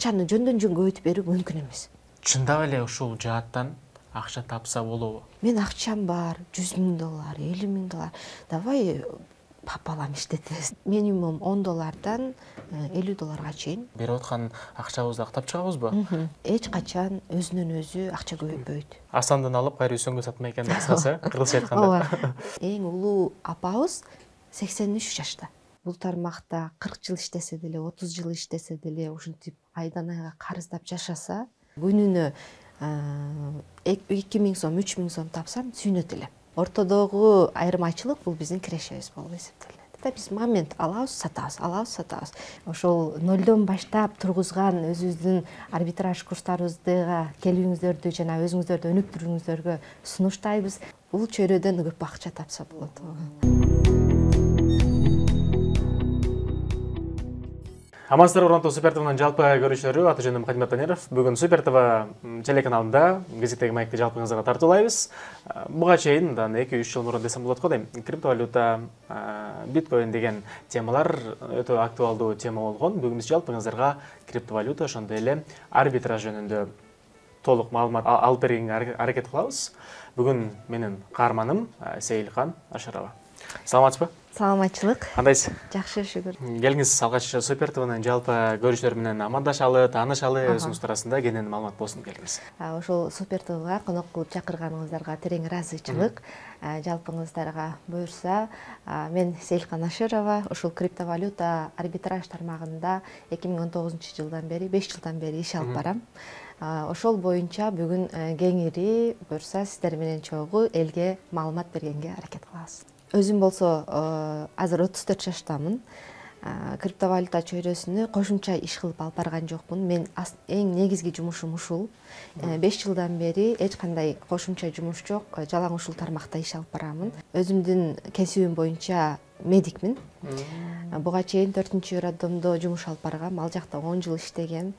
акчаны жөндөн жөн көбөйтүп берүү мүмкүн эмес. Чындап эле ушул жааттан акча тапса болобу? Мен акчам бар, $100,000, $50,000. Давай папалам иштетебиз. Минимум $10 $50 чейин Берип аткан акчабызды актап чыгабызбы? Эч качан өзүнөн өзү акча көбөйтпөйт. Асандан алып кайра үсөнгө сатмай экен кыскасы, кыргызча айтканда. Эң улуу апабыз 83 жашта. Бул тармакта 40 жыл иштесе деле, 30 жыл иштесе деле, ушинтип айдан айга карыздап жашаса, күнүнө 2000 сом, 3000 сом тапсам сүйүнөт элем. Ортодогу айырмачылык бул биздин кирешебиз болуп эсептелет. Биз момент алабыз, сатабыз. Ошол нолдон баштап тургузган өзүбүздүн арбитраж курстарыбызга келүүңүздөрдү жана өзүңүздөрдү өнүктүрүүңүздөргө сунуштайбыз. Бул чөйрөдөн көп акча тапса болот. Амансыздар, урматтуу Супер ТВнын жалпы көрүүчүлөрү, аты жөнүм Кадимат Танеров. Бүгүн Супер ТВ телеканалында гезиттеги маекти жалпыңызга тартуулайбыз. Буга чейин 2-3 жыл мурун десем болот го дейм. Криптовалюта, биткоин деген темалар өтө актуалдуу тема болгон. Бүгүн биз жалпыңыздарга криптовалюта, ошондой эле арбитраж жөнүндө толук маалымат алып бергенге аракет кылабыз. Бүгүн менин каарманым Сейилкан Ашарова. Саламатсызбы? Саламатчылык. Кандайсыз? Жакшы, шүгүр. Келиңиз алгач Супер ТВнын жалпы көрүүчүлөр менен амандашалы, таанышалы, өзүңүз туурасында кенен маалымат болсун келиңиз. Ошол Супер ТВга конок кылып чакырганыңыздарга терең ыраазычылык. Жалпыңыздарга буюрса, мен Сейилкан Ашарова, ушул криптовалюта арбитраж тармагында 2019-жылдан бери, 5 жылдан бери иш алып барам. Ошол боюнча бүгүн кеңири буюрса сиздер менен чогуу элге маалымат бергенге аракет кылабыз. Өзүм болсо азыр 34 жаштамын. Криптовалюта чөйрөсүнө кошумча иш кылып алып барган жокмун. Мен эң негизги жумушум ушул. 5 жылдан бери эч кандай кошумча жумуш жок, жалаң ушул тармакта иш алып барамын. Өзүмдүн кесибим боюнча медикмин. Буга чейин 4-роддомдо жумуш алып баргам. Ал жакта 10 жыл иштегем.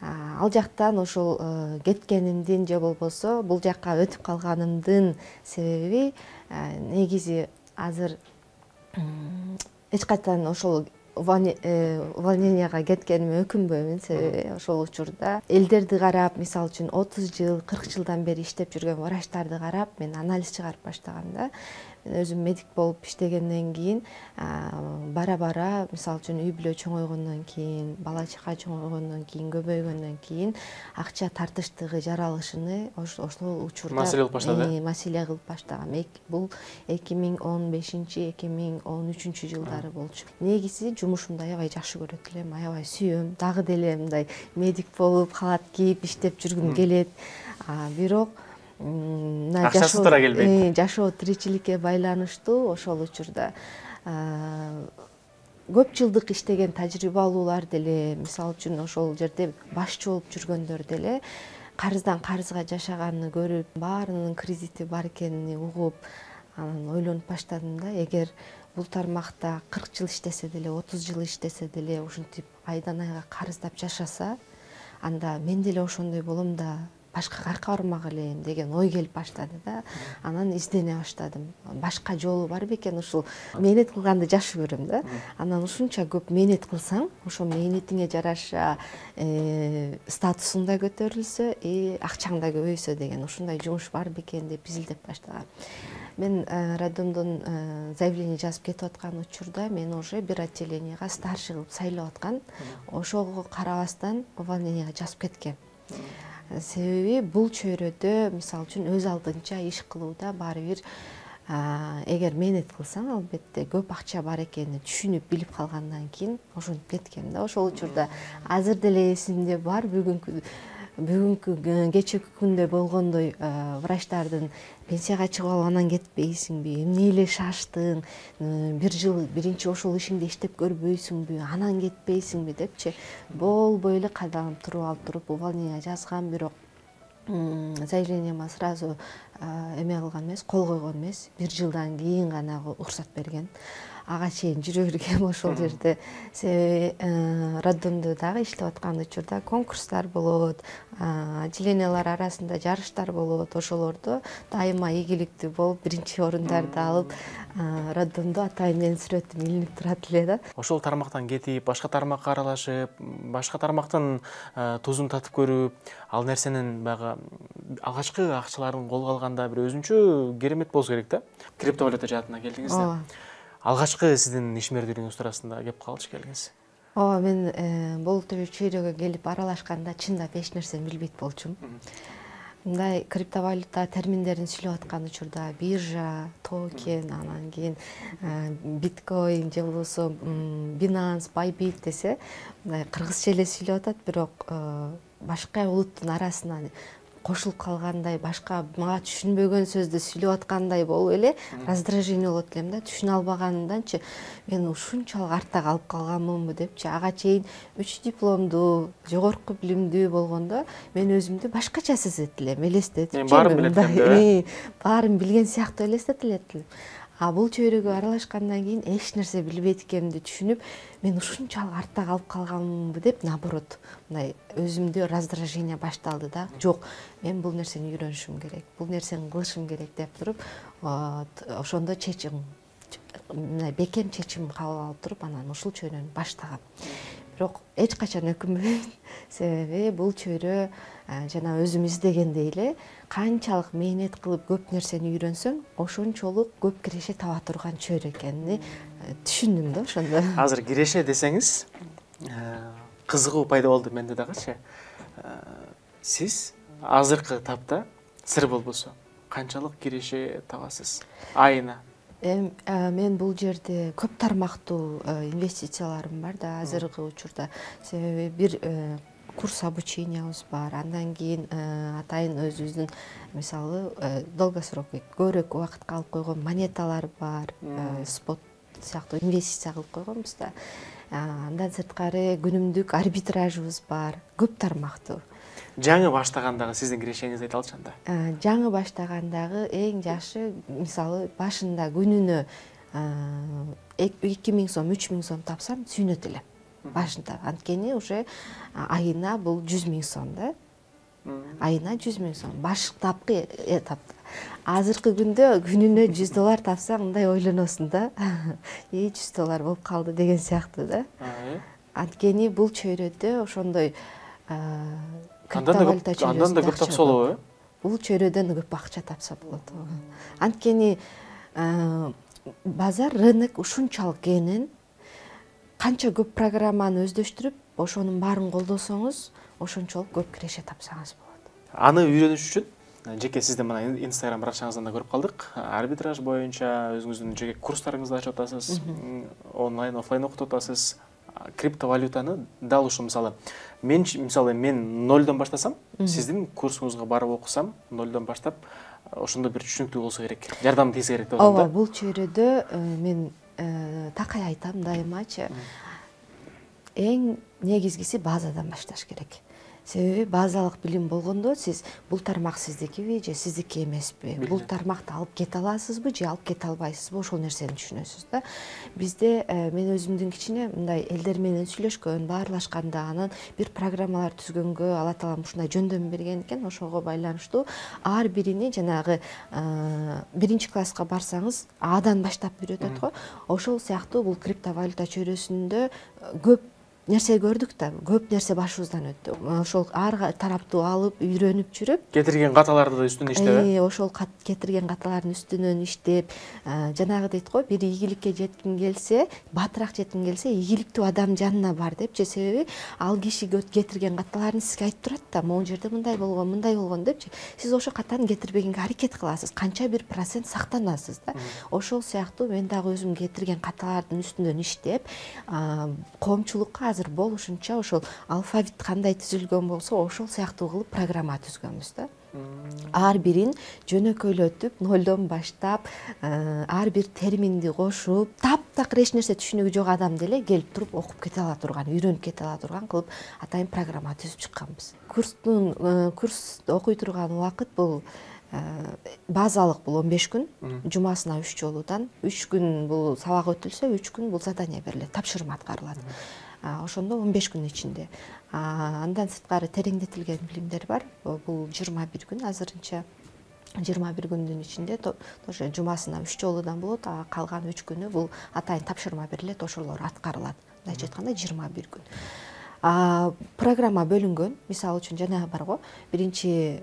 Ал жактан ошол кеткенимдин же болбосо бул жакка өтүп калганымдын себеби негизи азыр эч качан ошол увольненияга кеткениме өкүнбөймүн. Себеби ошол учурда элдерди карап, мисалы үчүн 30 жыл, 40 жылдан бери иштеп жүргөн врачтарды карап, мен анализ чыгарып баштагам да. Мен өзүм медик болуп иштегенден кийин бара-бара, мисалы үчүн үй бүлө чоңойгондон кийин, бала чака чоңойгондон кийин, көбөйгөндөн кийин акча тартыштыгы, жаралышыны ошол учурда маселе кылып баштагам. Бул 2015-2013 жылдары болчу. Негизи жумушумду аябай жакшы көрөт элем, аябай сүйөм. Дагы деле мындай медик болуп, халат кийип иштеп жүргүм келет. Бирок акчасы туура келбейт. Жашоо тиричиликке байланыштуу ошол учурда көп жылдык иштеген тажрыйбалуулар деле, мисалы үчүн ошол жерде башчы болуп жүргөндөр деле карыздан карызга жашаганын көрүп, баарынын кредити бар экенин угуп, анан ойлонуп баштадым да, эгер бул тармакта 40 жыл иштесе деле, 30 жыл иштесе деле, ушинтип айдан айга карыздап жашаса, анда мен деле ошондой болом да, башка кайка бармак элем деген ой келип баштады да. Анан издене баштадым. Башка жолу бар бекен, ушул мээнет кылганды жакшы көрөм да. Анан ушунча көп мээнет кылсаң, ошо мээнетиңе жараша статусуң да көтөрүлсө, акчаң да көбөйсө деген ушундай жумуш бар бекен деп изилдеп баштагам. Мен роддомдон заявление жазып кетип аткан учурда мен уже бир отделенияга старший кылып сайлап аткан. Ошого карабастан увольненияга жазып кеткем. Себеби бул чөйрөдө мисалы үчүн өз алдынча иш кылууда баары бир эгер мээнет кылсаң, албетте көп акча бар экенин түшүнүп билип калгандан кийин ошентип кеткем да. Ошол учурда азыр деле эсимде бар, бүгүнкү кечээки күндө болгондой врачтардын пенсияга чыгып алып анан кетпейсиңби, эмне эле шаштың, бир жыл биринчи ошол ишиңде иштеп көрбөйсүңбү, анан кетпейсиңби депчи болбой эле кайдаланып туруп увольнение жазгам. Бирок заявлениема сразу эме кылган эмес, кол койгон эмес. 1 жылдан кийин гана уруксат берген. Ага чейин жүрө бергем ошол жерде. Себеби роддомдо дагы иштеп аткан учурда конкурстар болот, отделениялар арасында жарыштар болот. Ошолордо дайыма ийгиликтүү болуп, 1 орундарды алып, роддомдо атайын менин сүрөтүм илинип турат эле да. Ошол тармактан кетип, башка тармакка аралашып, башка тармактын тузун татып көрүп, ал нерсенин баягы алгачкы акчаларын колго алганда бир өзүнчө керемет болсо керек да. Криптовалюта жаатына келдиңиз да. Алгачкы сиздин ишмердүүлүгүңүз туурасында кеп калчы келиңиз. Ооба, мен бул чөйрөгө келип аралашканда чындап эч нерсени билбейт болчумун. Мындай криптовалюта терминдерин сүйлөп аткан учурда биржа, токен, анан кийин биткоин же болбосо Binance, Bybit десе, мындай кыргызча эле сүйлөп атат, бирок башка улуттун арасынан кошулуп калгандай, башка мага түшүнбөгөн сөздү сүйлөп аткандай болуп эле раздражение болот элем да. Түшүнө албаганымданчы мен ушунчалык артта калып калганмынбы депчи. Ага чейин 3 дипломдуу, жогорку билимдүү болгондо мен өзүмдү башкача сезет элем, элестетип. Мен баарын билет элем. Баарын билген сыяктуу элестетет элем. А бул чөйрөгө аралашкандан кийин эч нерсе билбейт экенимди түшүнүп, мен ушунчалык артта калып калганмынбы деп, наоборот, мындай өзүмдө раздражение башталды да. Жок, мен бул нерсени үйрөнүшүм керек, бул нерсени кылышым керек деп туруп, ошондо чечим, мындай бекем чечим кабыл алып туруп, анан ушул чөйрөнү баштагам. Бирок эч качан өкүнбөйм, себеби бул чөйрө жана өзүм издегендей эле канчалык мээнет кылып көп нерсени үйрөнсөң, ошончолук көп киреше таба турган чөйрө экенин түшүндүм да ошондо. Азыр киреше десеңиз, кызыгуу пайда болду менде дагычы. Сиз азыркы тапта сыр болбосо канчалык киреше табасыз айына? Мен бул жерде көп тармактуу инвестицияларым бар да азыркы учурда. Себеби бир курс обучениябыз бар. Андан кийин атайын өзүбүздүн мисалы долгосрок көбүрөөк убакытка алып койгон монеталар бар. Спот сыяктуу инвестиция кылып койгонбуз да. Андан сырткары күнүмдүк арбитражыбыз бар. Көп тармактуу. Жаңы баштагандагы сиздин кирешеңизди айта алчы анда? Жаңы баштагандагы эң жакшы, мисалы башында күнүнө 2000 сом, 3000 сом тапсам сүйүнөт элем. Башында. Анткени уже айына бул 100 000 сом да. Айына 100 000 сом. Баштапкы этапта. Азыркы күндө күнүнө $100 тапсаң, мындай ойлоносуң да. $100 болуп калды деген сыяктуу да. Анткени бул чөйрөдө ошондой Андан да көп тапса болобу? Бул чөйрөдөн көп акча тапса болот. Анткени базар, рынок ушунчалык кенен, канча көп программаны өздөштүрүп, ошонун баарын колдосоңуз, ошончолук көп киреше тапсаңыз болот. Аны үйрөнүш үчүн жеке сиздин мына Instagram баракчаңыздан да көрүп калдык. Арбитраж боюнча өзүңүздүн жеке курстарыңызды ачып атасыз, онлайн, офлайн окутуп атасыз. Криптовалютаны дал ушул мисалы мен нолдон баштасам, сиздин курсуңузга барып окусам, нолдон баштап, ошондо бир түшүнүктүү болсо керек, жардам тийсе керек деп атам да. Ооба, бул чөйрөдө мен такай айтам дайымачы, эң негизгиси базадан башташ керек. Себеби базалык билим болгондо сиз бул тармак сиздикиби же сиздики эмеспи, бул тармакты алып кете аласызбы же алып кете албайсызбы, ошол нерсени түшүнөсүз да. Бизде мен өзүмдүн кичине мындай элдер менен сүйлөшкөн, баарлашканда, анан бир программалар түзгөнгө Алла таалам ушундай жөндөм берген экен, ошого байланыштуу ар бирини жанагы 1-класска барсаңыз Адан баштап үйрөтөт го. Ошол сыяктуу бул криптовалюта чөйрөсүндө көп нерсе көрдүк да, көп нерсе башыбыздан өттү. Ошол ар тараптуу алып, үйрөнүп жүрүп, кетирген каталарды да үстүнөн иштеп, ошол кетирген каталардын үстүнөн иштеп, жанагы дейт го, бир ийгиликке жеткиң келсе, батыраак жеткиң келсе, ийгиликтүү адам жанына бар депчи. Себеби ал киши кетирген каталарын сизге айтып турат да, могу жерде мындай болгон депчи. Сиз ошол катаны кетирбегенге аракет кыласыз, канча бир процент сактанасыз да. Ошол сыяктуу мен дагы өзүм кетирген каталардын үстүнөн иштеп, коомчулукка азыр болушунча ошол алфавит кандай түзүлгөн болсо, ошол сыяктуу кылып программа түзгөнбүз да. Ар бирин жөнөкөйлөтүп, нолдон баштап, ар бир терминди кошуп, таптакыр эч нерсе түшүнүгү жок адам деле келип туруп окуп кете ала турган, үйрөнүп кете ала турган кылып атайын программа түзүп чыкканбыз. Курс окуй турган убакыт бул базалык бул 15 күн, жумасына 3 жолудан 3 күн бул сабак өтүлсө, 3 күн бул задание берилет, тапшырма аткарылат. Ошондо 15 күн ичинде. Андан сырткары тереңдетилген билимдер бар. Бул 21 күн азырынча. 21 күндүн ичинде тоже жумасына 3 жолудан болот, калган 3 күнү бул атайын тапшырма берилет, ошолор аткарылат. Мындайча айтканда 21 күн. Программа бөлүнгөн. Мисалы үчүн жана барго, биринчи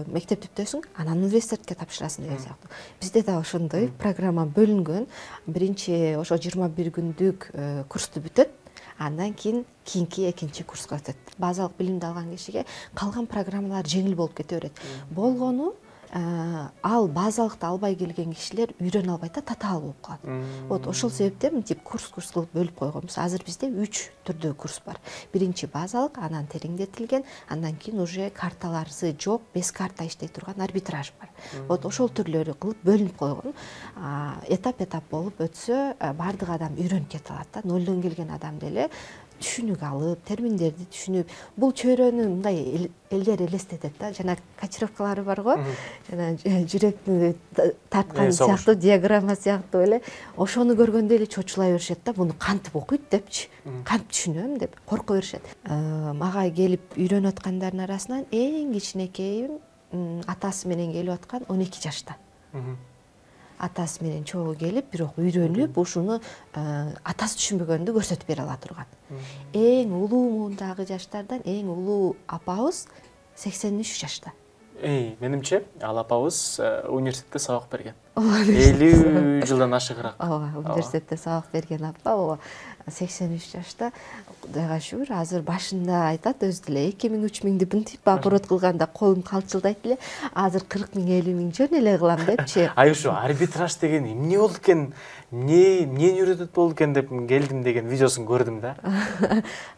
мектеп бүттөсүң, анан университетке тапшырасың деген сыяктуу. Бизде да ошондой программа бөлүнгөн. Биринчи ошо 21 күндүк курсту бүтөт. Андан кийинки экинчи курска өтөт. Базалык билимди алган кишиге калган программалар жеңил болуп кете берет. Болгону ал базалыкты албай келген кишилер үйрөнө албайт да, татаал болуп калат. Вот ошол себептен мынтип курс кылып бөлүп койгонбуз. Азыр бизде 3 түрдүү курс бар. Биринчи базалык, анан тереңдетилген, андан кийин уже карталары жок, без карта иштей турган арбитраж бар. Вот ошол түрлөрү кылып бөлүнүп койгон. Этап болуп өтсө, бардык адам үйрөнүп кете алат да. Нолдон келген адам деле түшүнүк алып, терминдерди түшүнүп, бул чөйрөнү мындай элдер элестетет да, жана кочировкалары бар го, жана жүрөктү тарткан сыяктуу, диаграмма сыяктуу эле, ошону көргөндө эле чочулай беришет да, буну кантип окуйт депчи, кантип түшүнөм деп корко беришет. Мага келип үйрөнүп аткандардын арасынан эң кичинекейим атасы менен келип аткан 12 жашта. Атасы менен чогуу келип, бирок үйрөнүп, ушуну атасы түшүнбөгөндү көрсөтүп бере ала турган. Эң улуу муундагы жаштардан эң улуу апабыз 83 жашта. Менимче, ал апабыз университетте сабак берген. 50 жылдан ашыгыраак. Ооба, университетте сабак берген апа, ооба, 83 жашта. Кудайга шүгүр, азыр башында айтат өзү деле 2000-3000 деп мынтип оборот кылганда колум калтчылдайт эле. Азыр 40 000, 50 000 жөн эле кылам депчи. Ушу арбитраж деген эмне болду экен? Эмнени үйрөтөт болду экен деп келдим деген видеосун көрдүм да.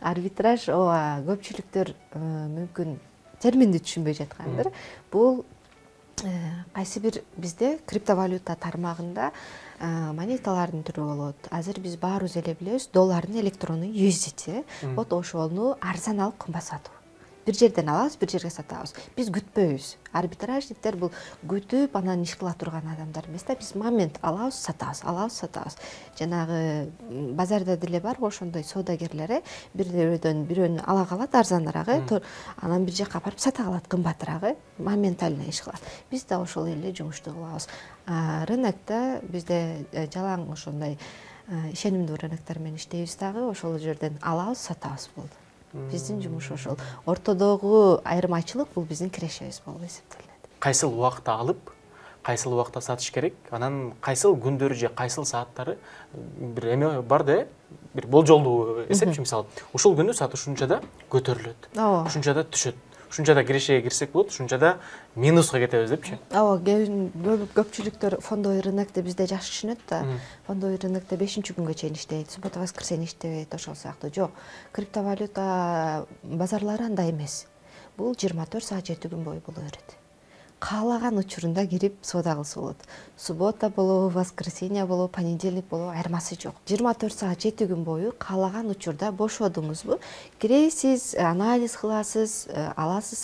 Арбитраж, ооба, көпчүлүктөр мүмкүн терминди түшүнбөй жаткандыр. Бул кайсы бир бизде криптовалюта тармагында монеталардын түрү болот. Азыр биз баарыбыз эле билебиз, доллардын электрондук USDT. Вот ошону арзан алып кымбат сатуу. Бир жерден алабыз, бир жерге сатабыз. Биз күтпөйбүз. Арбитражниктер бул күтүп, анан иш кыла турган адамдар эмес да. Биз момент алабыз, сатабыз. Жанагы базарда деле бар ошондой соодагерлер, бирөөнү ала калат арзаныраак, анан бир жака барып сата калат кымбатыраак, моментально иш кылат. Биз да ошол эле жумушту кылабыз. Рынокто бизде жалаң ошондой ишенимдүү рыноктор менен иштейбиз дагы, ошол жерден алабыз, сатабыз болду. Биздин жумуш ошол. Ортодогу айырмачылык бул биздин кирешебиз болуп эсептелет. Кайсыл убакта алып, кайсыл убакта сатыш керек, анан кайсыл күндөрү же кайсыл сааттары бир эме бар да, бир болжолдуу эсепчи, мисалы, ушул күнү сат ушунчада көтөрүлөт, ушунчада түшөт, ушунчада кирешеге кирсек болот, ушунчада минуска кетебиз депчи. Ооба, көпчүлүктөр фондовый рынокты бизде жакшы түшүнөт да. Фондовый рынокто 5-күнгө чейин иштейт, суббота, воскресенье иштебейт, ошол сыяктуу. Жок, криптовалюта базарлары андай эмес. Бул 24 саат 7 күн бою боло берет. Каалаган учурунда кирип соода кылса болот. Суббота болобу, воскресенье болобу, понедельник болобу, айырмасы жок. 24 саат 7 күн бою каалаган учурда бошодуңузбу, киресиз, анализ кыласыз, аласыз,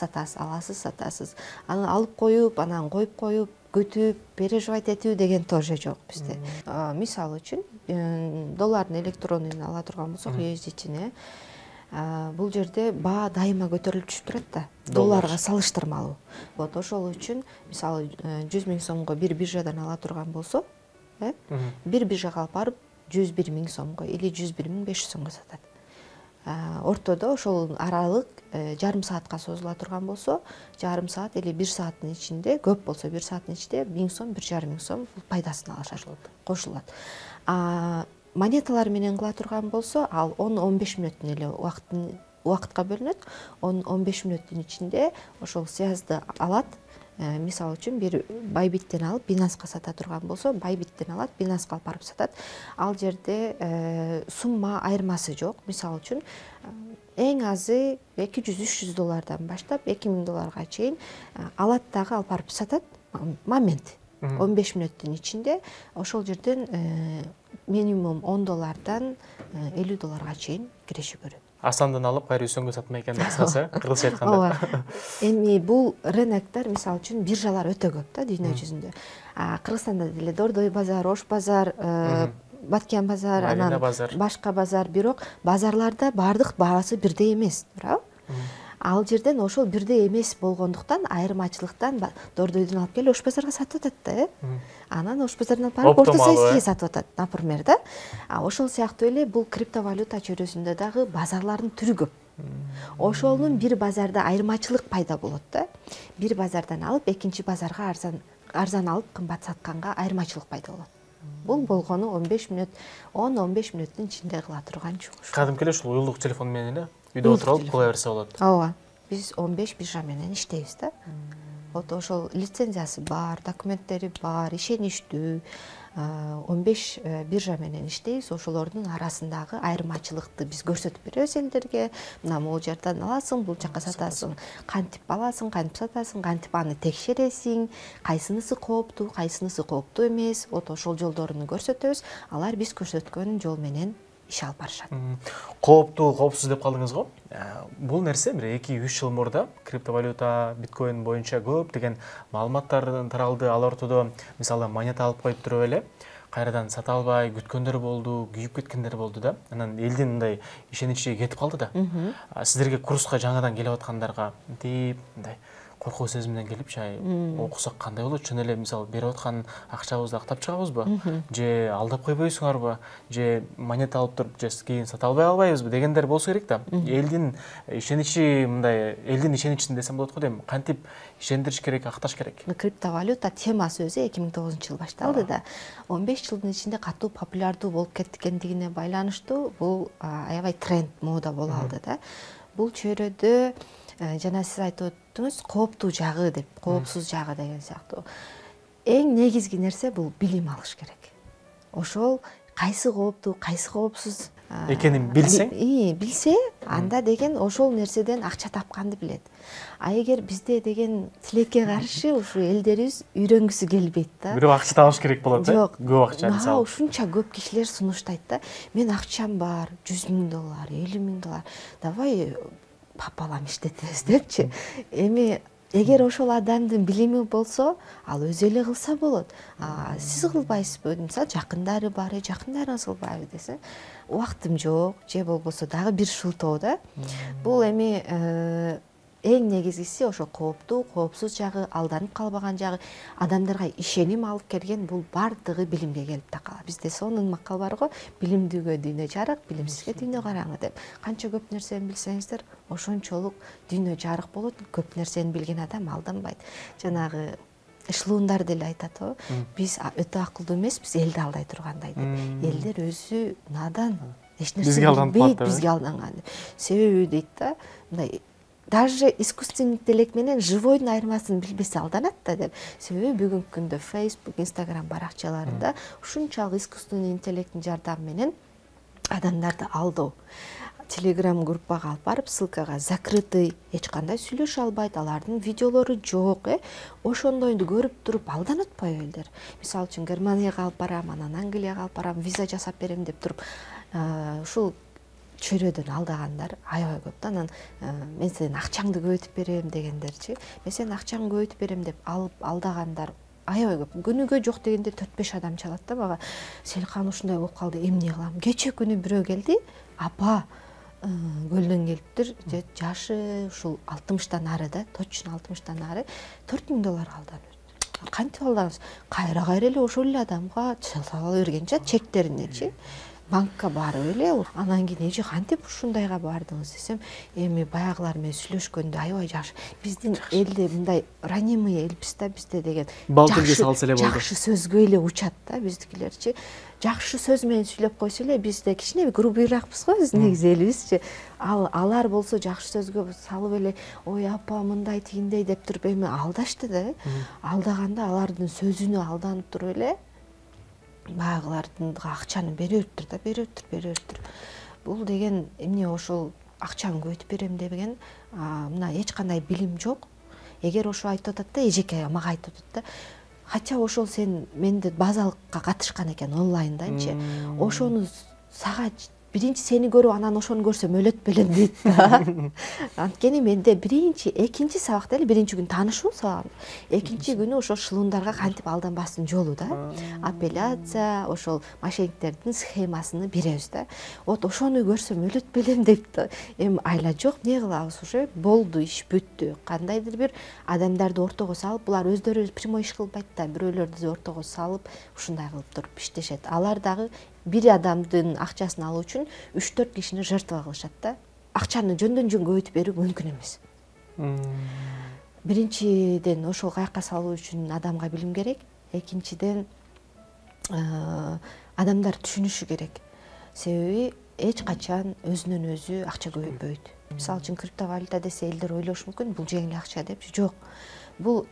сатасыз. Аны алып коюп, анан коюп коюп, күтүп, переживать этүү деген тоже жок бизде. Мисалы үчүн, доллардын электрондун ала турган болсок, USDT-ни, бул жерде баа дайыма көтөрүлүп түшүп турат да, долларга салыштырмалуу. Вот ошол үчүн, мисалы 100 000 сомго бир биржадан ала турган болсо, бир биржага алып барып 101 000 сомго или 101 500 сомго сатат. Ортодо ошол аралык жарым саатка созула турган болсо, жарым саат или 1 сааттын ичинде, көп болсо 1 сааттын ичинде 1000 сом, 1,5 сом пайдасын алышат, кошулат. Монеталар менен кыла турган болсо, ал 10-15 мүнөттүн эле убакытка бөлүнөт. 10-15 мүнөттүн ичинде ошол связды алат. Мисалы үчүн бир Байбиттен алып Binance'га сата турган болсо, Байбиттен алат, Binance'га алып барып сатат. Ал жерде сумма айырмасы жок. Мисалы үчүн эң азы $200-300 баштап $2000 чейин алат дагы алып барып сатат. Момент 15 мүнөттүн ичинде ошол жерден минимум $10 $50 чейин киреше көрөт. Асандан алып кайра үсөнгө сатмай экен деп кыскасы, кыргызча айтканда. Ооба. Эми бул рыноктор мисалы үчүн биржалар өтө көп да дүйнө жүзүндө. Кыргызстанда деле Дордой базар, Ош базар, Баткен базар, анан башка базар, бирок базарларда баардык баасы бирдей эмес, туурабы? Ал жерден ошол бирдей эмес болгондуктан айырмачылыктан Дордойдон алып келип Ош базарга сатып атат да, Анан Ош базарынан барып Орто Саискеге сатып атат, например, да. Ошол сыяктуу эле бул криптовалюта чөйрөсүндө дагы базарлардын түрү көп. Ошонун бир базарда айырмачылык пайда болот да. Бир базардан алып экинчи базарга арзан алып кымбат сатканга айырмачылык пайда болот. Бул болгону 15 мүнөт, 10-15 мүнөттүн ичинде кыла турган чугуш. Кадимки эле ушул уюлдук телефон менен эле үйдө отуруп алып кыла берсе болот. Ооба. Биз 15 биржа менен иштейбиз да. Ошол лицензиясы бар, документтери бар, ишеничтүү. 15 биржа менен иштейбиз. Ошолордун арасындагы айырмачылыкты биз көрсөтүп беребиз элдерге. Мына могул жерден аласың, бул жака сатасың. Кантип аласың, кантип сатасың, кантип аны текшересиң, кайсынысы кооптуу эмес. Ошол жолдорун көрсөтөбүз. Алар биз көрсөткөн жол менен иш алып барышат. Кооптуу, коопсуз деп калдыңыз го. Бул нерсе бир 2-3 жыл мурда криптовалюта, биткоин боюнча көп деген маалыматтар таралды. Ал ортодо мисалы монета алып коюп туруп эле кайрадан сата албай күткөндөр болду, күйүп кеткендер болду да. Анан элдин мындай ишеничи кетип калды да. Сиздерге курска жаңадан келип аткандарга мындай коркуу сезим менен келип окусак кандай болот? Чын эле мисалы берип аткан акчабызды актап чыгабызбы? Же алдап койбойсуңарбы? Же монета алып туруп же кийин сата албайбызбы дегендер болсо керек да. Элдин ишеничи мындай, элдин ишеничин десем болот го дейм. Кантип ишендириш керек, акташ керек? Криптовалюта темасы өзү 2009-жылы башталды да. 15 жылдын ичинде катуу популярдуу болуп кеткендигине байланыштуу бул аябай тренд, мода боло алды да. Бул чөйрөдө жана сиз айтып өттүңүз, кооптуу жагы деп, коопсуз жагы деген сыяктуу. Эң негизги нерсе бул билим алыш керек. Ошол кайсы кооптуу, кайсы коопсуз экенин билсең, билсе, анда деген ошол нерседен акча тапканды билет. Эгер бизде деген тилекке каршы ушу элдерибиз үйрөнгүсү келбейт да. Бирок акча табыш керек болот да. Көп акча мисалы. Ушунча көп кишилер сунуштайт да. Мен акчам бар, $100,000, $50,000. Давай папалам иштетебиз депчи. Эми эгер ошол адамдын билими болсо, ал өзү эле кылса болот. Сиз кылбайсызбы? Мисалы жакындары бар, жакындарыңыз кылбайбы десе, убактым жок, же болбосо дагы бир шылтоо да. Бул эми эң негизгиси ошо кооптуу, коопсуз жагы, алданып калбаган жагы, адамдарга ишеним алып келген бул бардыгы билимге келип такалат. Бизде сонун макал бар го, билимдүүгө дүйнө жарык, билимсизге дүйнө караңгы деп. Канча көп нерсени билсеңиздер, ошончолук дүйнө жарык болот. Көп нерсени билген адам алданбайт. Жанагы эшлоондар деле айтат го, биз өтө акылдуу эмеспиз, элди алдай тургандай деп. Элдер өзү надан, эч нерсе билбейт, бизге алданган. Себеби дейт да, мындай даже искусственный интеллект менен живойдун айырмасын билбесе алданат да деп. Себеби бүгүнкү күндө Facebook, Instagram баракчаларында ушунчалык искусственный интеллекттин жардамы менен адамдарды алдоо. Telegram группага алып барып, ссылкага закрытый, эч кандай сүйлөшө албайт, алардын видеолору жок, ошондойду көрүп туруп алданып атпайбы элдер? Мисалы үчүн Германияга алып барам, анан Англияга алып барам, виза жасап берем деп туруп, ушул чөйрөдөн алдагандар аябай көп да. Анан мен сенин акчаңды көбөйтүп берем дегендерчи. Мен сенин акчаңды көбөйтүп берем деп алып алдагандар аябай көп. Күнүгө жок дегенде 4-5 адам чалат да мага. Селкан ушундай болуп калды, эмне кылам? Кече күнү бирөө келди, апа көлдөн келиптир, жашы ушул 60-тан ары да, точно 60-тан ары, $4,000 алданып. Кантип алдыңыз? Кайра эле ошол эле адамга сала бергенчи, чектеринечи. Банкка барып эле, анан кийин эже кантип ушундайга бардыңыз десем, эми баягылар менен сүйлөшкөндө аябай жакшы. Биздин элде мындай ранимый элбиз да, бизде деген жакшы сөзгө эле учат да биздикилерчи. Жакшы сөз менен сүйлөп койсо эле, бизде кичине грубыйраакпыз го, биз негизи элибизчи. Алар болсо жакшы сөзгө салып эле, ой апа мындай тигиндей деп туруп эми алдашты да. Алдаганда алардын сөзүнө алданып туруп эле баягылардын акчаны бериптир да, бериптир. Бул деген эмне, ошол акчаны көбөйтүп берем деген, мына эч кандай билим жок. Эгер ошо айтып атат да, эжеке мага айтып атат да, хотя ошол сен менде базалыкка катышкан экен онлайндачы, ошону сага биринчи сени көрүп анан ошону көрсөм өлөт белем дейт да. Анткени менде биринчи, экинчи сабакта эле биринчи күн таанышуу сабагым. Экинчи күнү ошол шылуундарга кантип алданбастын жолу да. Апелляция, ошол мошенниктердин схемасын беребиз да. Вот ошону көрсөм өлөт белем деп да. Эми айла жок, эмне кылабыз, уже болду, иш бүттү. Кандайдыр бир адамдарды ортого салып, булар өздөрү прямой иш кылбайт да, бирөөлөрдү ортого салып, ушундай кылып туруп иштешет. Алар дагы бир адамдын акчасын алуу үчүн 3-4 кишини жертва кылышат да. Акчаны жөндөн жөн көбөйтүп берүү мүмкүн эмес. Биринчиден ошол каякка салуу үчүн адамга билим керек. Экинчиден адамдар түшүнүшү керек. Себеби эч качан өзүнөн өзү акча көбөйтпөйт. Мисалы үчүн криптовалюта десе элдер ойлошу мүмкүн, бул жеңил акча деп. Жок. Бул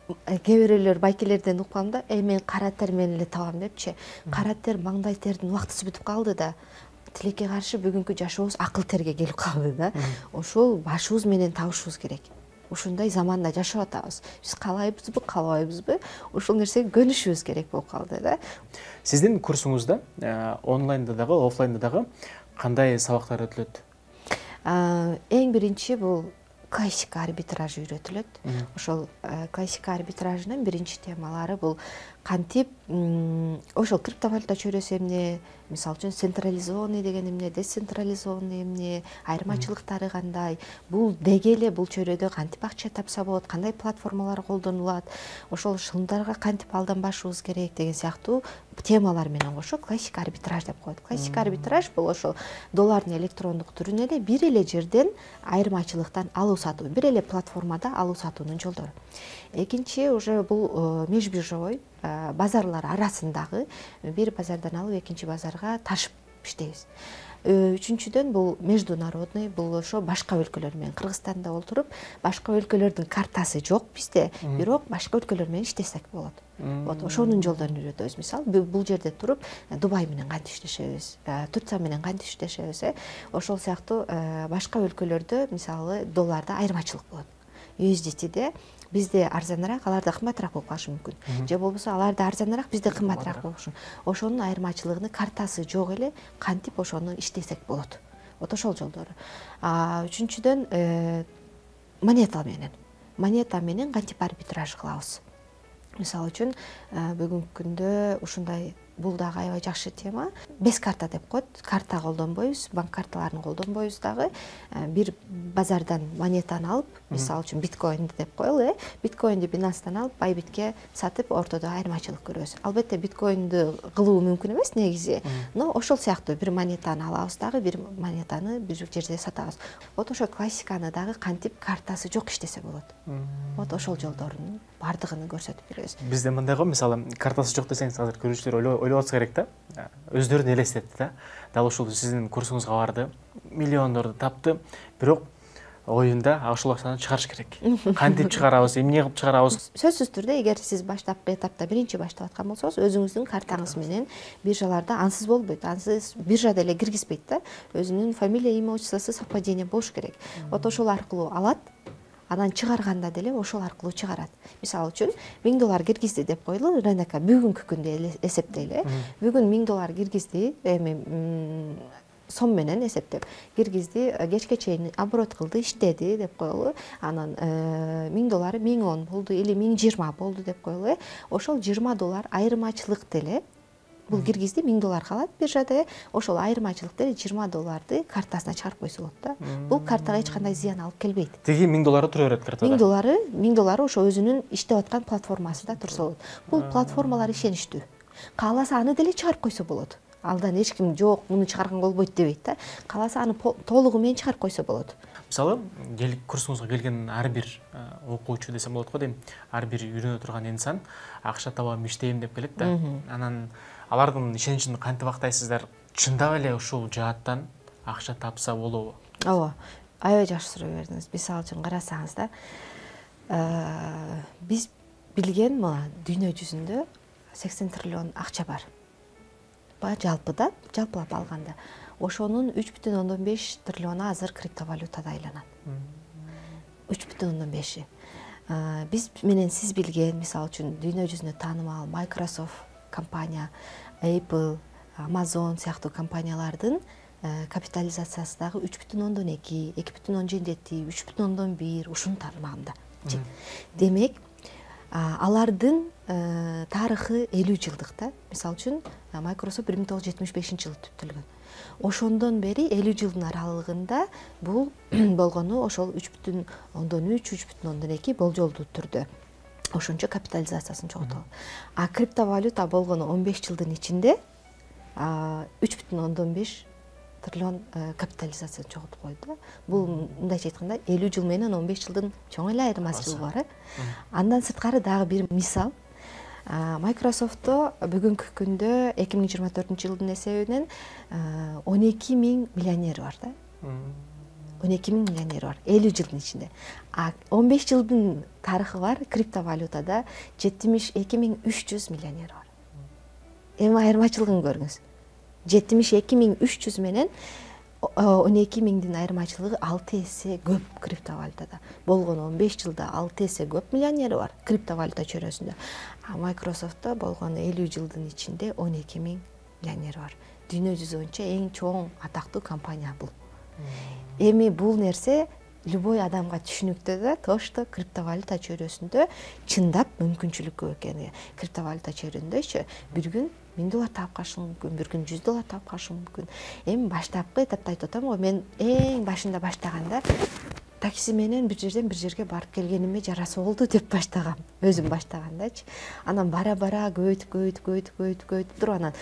кээ бирөөлөр байкелерден уккам да, мен кара тер менен эле табам депчи. Кара тер, маңдай тердин убактысы бүтүп калды да. Тилекке каршы бүгүнкү жашообуз акыл терге келип калды да. Ошол башыбыз менен табышыбыз керек. Ушундай заманда жашап атабыз. Биз каалайбызбы, каалабайбызбы, ошол нерсеге көнүшүбүз керек болуп калды да. Сиздин курсуңузда онлайнда дагы, офлайнда дагы кандай сабактар өтүлөт? Эң биринчи бул классика арбитраж үйрөтүлөт. Ошол классика арбитражынын биринчи темалары бул кантип ошол криптовалюта чөйрөсү эмне, мисалы үчүн централизованный деген эмне, децентрализованный эмне, айырмачылыктары кандай, бул деги эле бул чөйрөдө кантип акча тапса болот, кандай платформалар колдонулат, ошол шылымдарга кантип алданбашыбыз керек деген сыяктуу темалар менен кошо классика арбитраж деп коет. Классика арбитраж бул ошол доллардын электрондук түрүн эле бир эле жерден айырмачылыктан алуу сатуу, бир эле платформада алуу сатуунун жолдору. Экинчи уже бул межбиржовой базарлар арасындагы бир базардан алып экинчи базарга ташып иштейбиз. Үчүнчүдөн бул международный, бул ошо башка өлкөлөр менен Кыргызстанда отуруп, башка өлкөлөрдүн картасы жок бизде, бирок башка өлкөлөр менен иштесек болот. Вот ошонун жолдорун үйрөтөбүз. Мисалы, бул жерде туруп Дубай менен кантип иштешебиз, Турция менен кантип иштешебиз, ошол сыяктуу башка өлкөлөрдө мисалы долларда айырмачылык болот. USDT'де бизде арзаныраак, аларда кымбатыраак болуп калышы мүмкүн. Же болбосо аларда арзаныраак, бизде кымбатыраак болушу. Ошонун айырмачылыгын картасы жок эле кантип ошону иштесек болот. Вот ошол жолдору. Үчүнчүдөн монета менен кантип арбитраж кылабыз. Мисалы үчүн бүгүнкү күндө ушундай, бул дагы аябай жакшы тема. Без карта деп коет. Карта колдонбойбуз, банк карталарын колдонбойбуз дагы. Бир базардан монетаны алып, мисалы үчүн биткоинди деп коелу, биткоинди Binance'дан алып, Bybitке сатып, ортодо айырмачылык көрөбүз. Албетте биткоинди кылуу мүмкүн эмес негизи, но ошол сыяктуу бир монетаны алабыз дагы, бир монетаны бир жерде сатабыз. Вот ошо классиканы дагы кантип картасы жок иштесе болот. Вот ошол жолдорунун бардыгын көрсөтүп беребиз. Бизде мындай го, мисалы, картасы жок десеңиз, азыр көрүүчүлөр ойлоп атса керек да. Өздөрүн элестетти да. Дал ушул сиздин курсуңузга барды, миллиондорду тапты, бирок оюнда ошол акчаны чыгарыш керек. Кантип чыгарабыз, эмне кылып чыгарабыз? Сөзсүз түрдө, эгер сиз баштапкы этапта биринчи баштап аткан болсоңуз, өзүңүздүн картаңыз менен биржаларда ансыз болбойт. Ансыз биржада эле киргизбейт да. Өзүнүн фамилия, имя, отчествосу совпадение болуш керек. Вот ошол аркылуу алат. Анан чыгарганда деле ошол аркылуу чыгарат. Мисалы үчүн $1000 киргизди деп коелу, рынокко бүгүнкү күндө эсептейли. Бүгүн $1000 киргизди, эми сом менен эсептеп киргизди, кечке чейин оборот кылды, иштеди деп коелу. Анан $1000 $1010 болду или $1020 болду деп коелу. Ошол $20 айырмачылык деле бул киргизди, $1000 калат биржада, ошол айырмачылык деле $20 картасына чыгарып койсо болот да. Бул картага эч кандай зыян алып келбейт. Теги $1000 тура берет картада. $1000 ошо өзүнүн иштеп аткан платформасында турса болот. Бул платформалар ишеничтүү. Кааласа аны деле чыгарып койсо болот. Алдан эч ким жок, муну чыгарган болбойт дебейт да. Кааласа аны толугу менен чыгарып койсо болот. Мисалы, курсуңузга келген ар бир окуучу десем болот го дейм, ар бир үйрөнө турган инсан акча табам, иштейм деп келет да. Анан алардын ишеничин кантип актайсыздар? Чындап эле ушул жааттан акча тапса болобу? Ооба, аябай жакшы суроо бердиңиз. Мисалы үчүн карасаңыз да, биз билген дүйнө жүзүндө 80 триллион акча бар. Жалпыда, жалпылап алганда. Ошонун 3,5 триллиону азыр криптовалютада айланат. 3,5. Биз менен сиз билген, мисалы үчүн дүйнө жүзүндө таанымал Microsoft компания, Apple, Amazon сыяктуу компаниялардын капитализациясы дагы 3,2, 2,7, 3,1 ушунун тармагында. Демек, алардын тарыхы 50 жылдык да. Мисалы үчүн Microsoft 1975-жылы түптөлгөн. Ошондон бери 50 жылдын аралыгында бул болгону ошол 3,3, 3,2 болжолдуу түрдө ошончо капитализациясын чогултуп. А криптовалюта болгону 15 жылдын ичинде 3,5 триллион капитализацияны чогултуп койду. Бул мындайча айтканда 50 жыл менен 15 жылдын чоң эле айырмачылыгы бар. Андан сырткары дагы бир мисал. Microsoft'то бүгүнкү күндө 2024-жылдын эсебинен 12,000 миллионер бар да. 12,000 миллионер бар 50 жылдын ичинде. 15 жылдын тарыхы бар криптовалютада 72,300 миллионер бар. Эми айырмачылыгын көрүңүз. 72,300 менен 12,000дин айырмачылыгы 6 эсе көп криптовалютада. Болгону 15 жылда 6 эсе көп миллионери бар криптовалюта чөйрөсүндө. А Microsoft'та болгону 50 жылдын ичинде 12,000 миллионери бар. Дүйнө жүзү боюнча эң чоң атактуу компания бул. Эми бул нерсе любой адамга түшүнүктүү да, тошто криптовалюта чөйрөсүндө чындап мүмкүнчүлүк көп экени. Криптовалюта чөйрөсүндө бир күн $1000 таап калышы мүмкүн, бир күн $100 таап калышы мүмкүн. Эми баштапкы этапта айтып атам го, мен эң башында баштаганда такси менен бир жерден бир жерге барып келгениме жараса болду деп баштагам. Өзүм баштагандачы. Анан бара-бара көбөйтүп туруп анан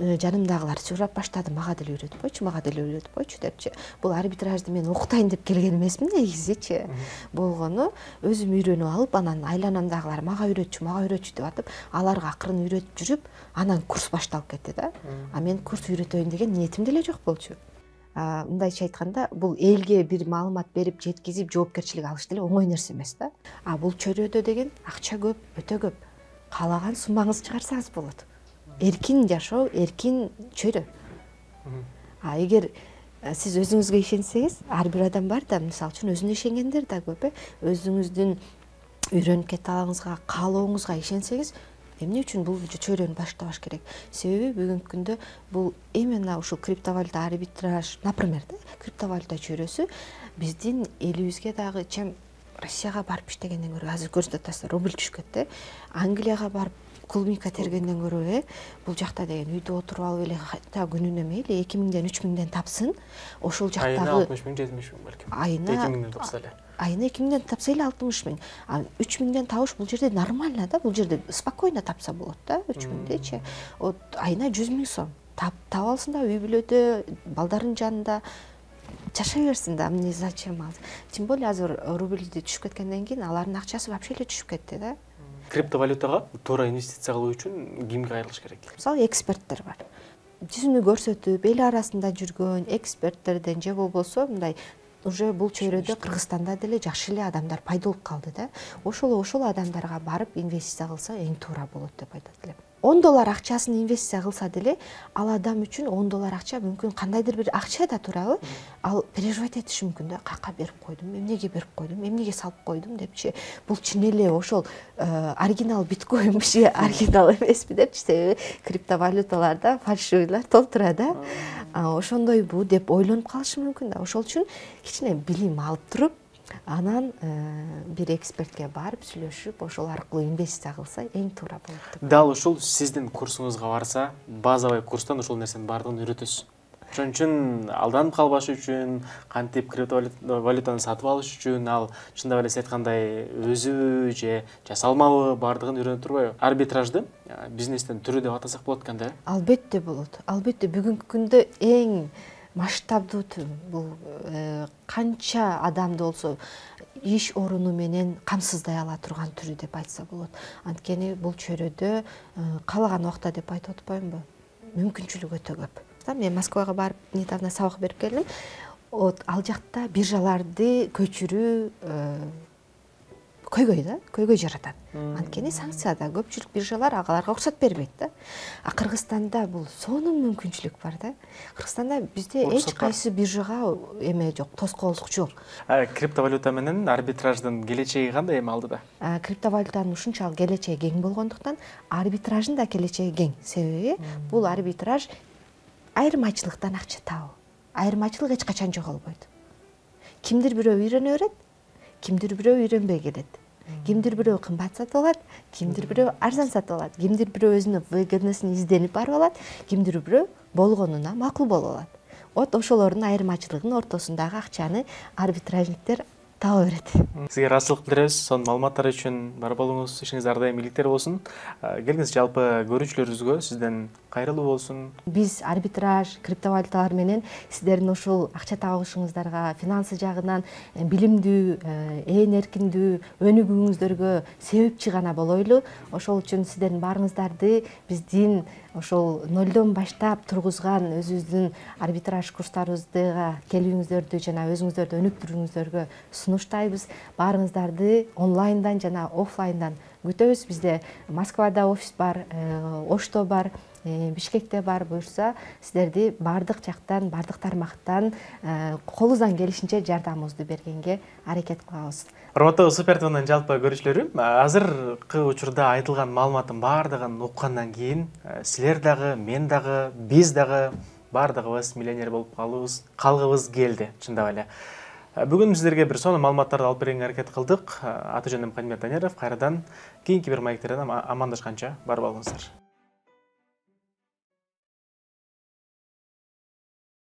жанымдагылар сурап баштады, мага деле үйрөтүп койчу депчи. Бул арбитражды мен окутайын деп келген эмесмин негизичи. Болгону өзүм үйрөнүп алып, анан айланамдагылар мага үйрөтчү деп атып, аларга акырын үйрөтүп жүрүп, анан курс башталып кетти да. А мен курс үйрөтөйүн деген ниетим деле жок болчу. Мындайча айтканда, бул элге бир маалымат берип, жеткизип, жоопкерчилик алыш деле оңой нерсе эмес да. А бул чөйрөдө деген акча көп, өтө көп. Каалаган суммаңызды чыгарсаңыз болот. Эркин жашоо, эркин чөйрө. А эгер сиз өзүңүзгө ишенсеңиз, ар бир адам бар да, мисалы үчүн өзүнө ишенгендер да көп, өзүңүздүн үйрөнүп кете алыңызга, каалооңузга ишенсеңиз, эмне үчүн бул чөйрөнү баштабаш керек? Себеби бүгүнкү күндө бул именно ушул криптовалюта арбитраж, например, криптовалюта чөйрөсү биздин элибизге дагы чем Россияга барып иштегенден көрө, азыр көрсөтүп атасыздар, рубль түшкөт да. Англияга барып клубника тергенден көрө, бул жакта деген үйдө отуруп алып эле та күнүнө мейли 2000ден 3000ден тапсын, ошол жактагы айына 60 000, 70 000 балким. Айына 2000ден тапса эле. Айына 2000ден тапса эле 60 000. А 3000ден табыш бул жерде нормально да, бул жерде спокойно тапса болот да, 3000дечи. Вот айына 100 000 сом. Таап алсын да, үй бүлөдө, балдардын жанында жашай берсин да, мне зачем ал? Тем более азыр рубль түшүп кеткенден кийин алардын акчасы вообще эле түшүп кетти да. Криптовалютага туура инвестиция кылуу үчүн кимге кайрылыш керек? Мисалы, эксперттер бар. Жүзүнү көрсөтүп, эл арасында жүргөн эксперттерден же болбосо мындай уже бул чөйрөдө Кыргызстанда деле жакшы эле адамдар пайда болуп калды да. Ошол адамдарга барып инвестиция кылса эң туура болот деп айтат элем. $10 акчасын инвестиция кылса деле, ал адам үчүн $10 акча мүмкүн кандайдыр бир акча да туурабы, ал переживать этиши мүмкүн да, кака берип койдум, эмнеге берип койдум, эмнеге салып койдум депчи. Бул чын эле ошол оригинал биткоинбиши, оригинал эмеспи депчи, себеби криптовалюталарда фальшивыйлар толтура да. Ошондойбу деп ойлонуп калышы мүмкүн да. Ошол үчүн кичине билим алып туруп, анан бир экспертке барып сүйлөшүп, ошол аркылуу инвестиция кылса эң туура болот деп. Дал ушул сиздин курсуңузга барса, базовый курстан ушул нерсенин баардыгын үйрөтөсүз. Ошон үчүн алданып калбаш үчүн, кантип криптовалютаны сатып алыш үчүн, ал чындап эле сиз айткандай өзүбү же жасалмабы баардыгын үйрөнүп турбайбы? Арбитражды бизнестин түрү деп атасак болот экен да? Албетте болот. Албетте бүгүнкү күндө эң масштабдуу бул канча адамды болсо иш оруну менен камсыздай ала турган түрү деп айтса болот. Анткени бул чөйрөдө каалаган убакта деп айтып атпаймынбы? Мүмкүнчүлүк өтө көп. Мен Москвага барып недавно сабак берип келдим. Ал жакта биржаларды көчүрүү көйгөй жаратат. Анткени санкцияда көпчүлүк биржалар аларга уруксат бербейт да. А Кыргызстанда бул сонун мүмкүнчүлүк бар да. Кыргызстанда бизде эч кайсы биржага эме жок, тоскоолдук жок. Криптовалюта менен арбитраждын келечеги кандай эми алдыда? Криптовалютанын ушунчалык келечеги кең болгондуктан арбитраждын да келечеги кең. Себеби бул арбитраж айырмачылыктан акча табуу. айырмачылык эч качан жоголбойт. Кимдир бирөө үйрөнө берет, кимдир бирөө үйрөнбөй келет. Кимдир бирөө кымбат сатып алат, кимдир бирөө арзан сатып алат, кимдир бирөө өзүнүн выгоднысын изденип барып алат, кимдир бирөө болгонуна макул болуп алат. Вот ошолордун айырмачылыгынын ортосундагы акчаны арбитражниктер таба берет. Сизге ыраазычылык билдиребиз. Сонун маалыматтар үчүн бар болуңуз, ишиңиз ар дайым ийгиликтер болсун. Келиңиз, жалпы көрүүчүлөрүбүзгө сизден кайрылуу болсун. Биз арбитраж, криптовалюталар менен сиздердин ушул акча табышыңыздарга, финансы жагынан билимдүү, ээн эркиндүү өнүгүүңүздөргө себепчи гана болойлу. Ошол үчүн сиздердин баарыңыздарды биздин ошол нолдон баштап тургузган өзүбүздүн арбитраж курстарыбызга келүүңүздөрдү жана өзүңүздөрдү өнүктүрүүңүздөргө сунуштайбыз. Баарыңыздарды онлайндан жана офлайндан күтөбүз. Бизде Москвада офис бар, Ошто бар, Бишкекте бар. Буюрса сиздерди баардык жактан, баардык тармактан колубуздан келишинче жардамыбызды бергенге аракет кылабыз. Урматтуу Супер ТВнын жалпы көрүүчүлөрү, азыркы учурда айтылган маалыматтын баардыгын уккандан кийин силер дагы, мен дагы, биз дагы баардыгыбыз миллионер болуп калгыбыз келди, чындап эле. Бүгүн сиздерге бир сонун маалыматтарды алып бергенге аракет кылдык. Аты-жөнүм Кадимет Данеров. Кайрадан кийинки бир маектерден амандашканча бар болуңуздар.